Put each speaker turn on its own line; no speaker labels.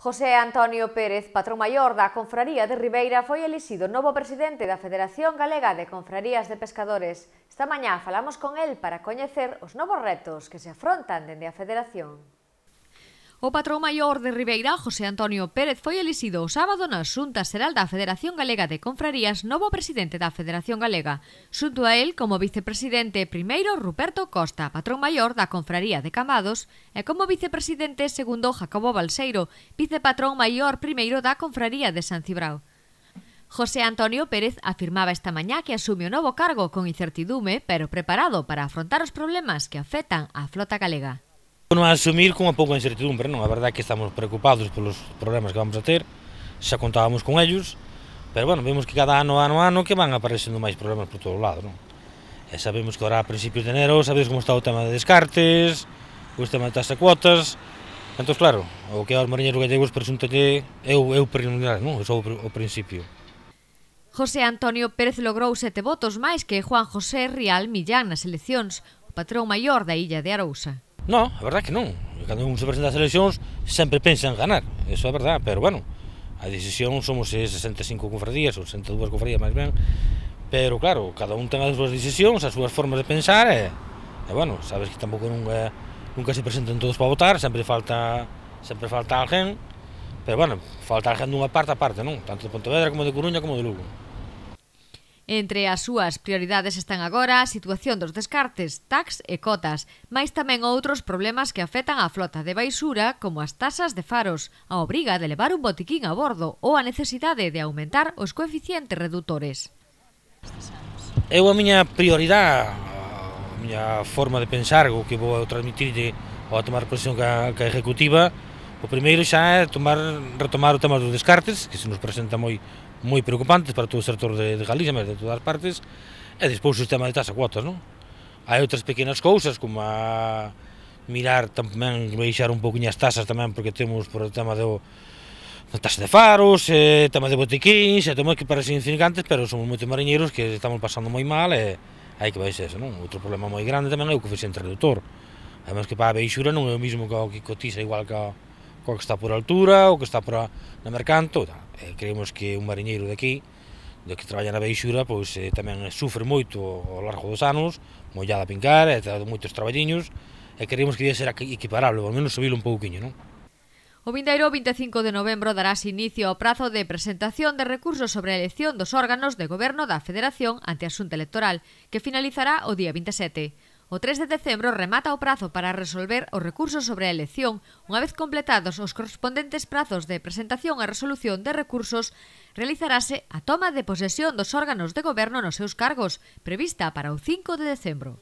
José Antonio Pérez, patrón maior da Confraría de Ribeira, foi elixido novo presidente da Federación Galega de Confrarías de Pescadores. Esta mañá falamos con el para coñecer os novos retos que se afrontan dende a Federación.
O patrón maior de Ribeira, José Antonio Pérez, foi elixido o sábado na Xunta Xeral da Federación Galega de Confrarías novo presidente da Federación Galega. Xunto a el, como vicepresidente primeiro, Ruperto Costa, patrón maior da Confraría de Cambados, e como vicepresidente segundo, Jacobo Balseiro, vicepatrón maior primeiro da Confraría de San Cibrao. José Antonio Pérez afirmaba esta mañá que asume o novo cargo con incertidume, pero preparado para afrontar os problemas que afectan á flota galega.
Non a asumir con unha pouca incertidumbre, non? A verdade é que estamos preocupados polos problemas que vamos a ter, xa contábamos con ellos, pero bueno, vemos que cada ano que van aparecendo máis problemas por todo o lado, non? E sabemos que ahora a principios de enero, sabedes como está o tema de descartes, o tema de taxa de cuotas, entón claro, o que aos mariñeiros gallegos presúntalle é o preliminar, non? É só o principio.
José Antonio Pérez logrou 7 votos máis que Juan José Rial Millán nas eleccións, o patrón maior da illa de Arousa.
Non, a verdade é que non. Cando un se presenta ás eleccións sempre pensa en ganar, eso é verdade, pero bueno, a decisión somos 65 confradías, ou 62 confradías máis ben, pero claro, cada un ten as súas decisións, as súas formas de pensar e bueno, sabes que tampouco nunca se presentan todos para votar, sempre falta alguén, pero bueno, falta alguén dunha parte a parte, non? Tanto de Pontevedra como de Coruña como de Lugo.
Entre as súas prioridades están agora a situación dos descartes, tax e cotas, mais tamén outros problemas que afectan á flota de baixura, como as tasas de faros, a obriga de levar un botiquín a bordo ou a necesidade de aumentar os coeficientes redutores.
Eu a miña prioridade, a miña forma de pensar, o que vou transmitirlle ao tomar posición ca ejecutiva, o primeiro xa é retomar o tema dos descartes, que se nos presenta moi preocupantes para todo o sector de Galicia, mas de todas as partes, e despois o sistema de taxa cuotas, non? Hai outras pequenas cousas, como a mirar tamén, baixar un pouquinho as tasas tamén, porque temos por o tema da taxa de faros, tema de botiquíns, e temos que parecer insignificantes, pero somos moitos mariñeiros que estamos pasando moi mal e hai que baixar eso, non? Outro problema moi grande tamén é o coeficiente redutor. Además que para a baixura non é o mismo que o que cotiza igual que o que está por altura, o que está na mercanto, creemos que un mariñeiro de aquí, que traballa na baixura, pois tamén sufre moito ao largo dos anos, mollada a pincar, e moitos traballiños, e creemos que debe ser equiparable, ao menos subilo un pouquiño, non?
O vindeiro 25 de novembro darás inicio ao prazo de presentación de recursos sobre a elección dos órganos de goberno da Federación ante a Xunta Electoral, que finalizará o día 27. O 3 de decembro remata o prazo para resolver os recursos sobre a elección. Unha vez completados os correspondentes prazos de presentación e resolución de recursos, realizarase a toma de posesión dos órganos de goberno nos seus cargos, prevista para o 5 de decembro.